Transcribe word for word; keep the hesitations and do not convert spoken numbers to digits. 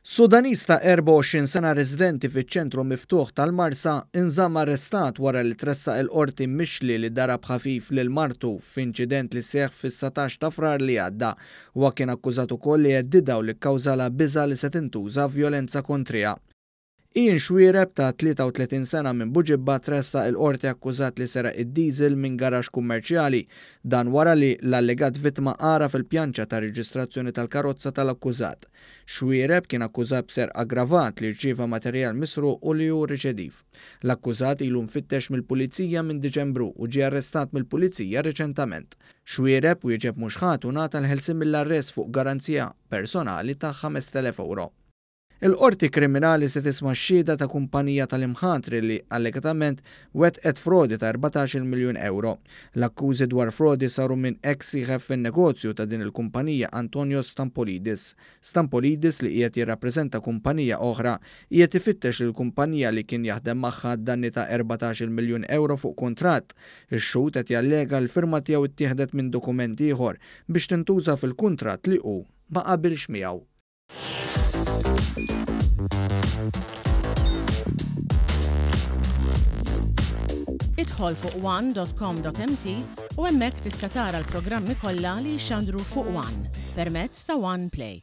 Sudaniż ta' erbgħa u għoxrin sena residenti fiċ-ċentru miftuħ tal-Marsa inżamm arrestat wara li tressaq il-qorti mixli li darab ħafif lil martu f'inċident li seħħ fis-satax ta' Frar li għadda. Huwa kien akkużat ukoll li heddidha u li kkawżalha biża' li se tintuża vjolenza kontriha. Ian Xuereb ta' tlieta u tletin sena minn Buġibba tressaq il-qorti akkużat li seraq id-diesel minn garaxx kummerċjali. Dan wara li l-allegat vittma għaraf il-pjanċa ta' reġistrazzjoni tal-karozza tal-akkużat. Xuereb kien akkużat b'serq aggravat li rċieva materjal misruq u li hu riċediv. L-akkużat ilu mfittex mill-pulizija minn Diċembru u ġie arrestat mill-pulizija reċentament. Xuereb wieġeb mhux ħadd u ngħata l-ħelsien mill-arrest fuq garanzija personali ta' ħamest elef euro. Il-Qorti Kriminali se tisma' x-xhieda ta' kumpanija tal-imħatri li allegatament wettqet frodi ta' erbatax-il miljun euro. L-akkużi dwar frodi saru minn ex sieħeb fin-negozju ta' din il-kumpanija Antonio Stampolidis. Stampolidis, li qiegħed jirrappreżenta kumpanija oħra, qiegħed ifittex lil kumpanija li kien jaħdem magħha danni ta' erbatax-il miljun euro fuq kuntratt. Ix-xhud qed jallega l-firma tiegħu ttieħdet minn dokument ieħor biex tintuża fil-kuntratt li hu ma qabilx miegħu. Idħol fuq one dot com dot m t u hemmhekk tista' tara l-programmi kollha li jxandru fuq One permezz ta' One Play.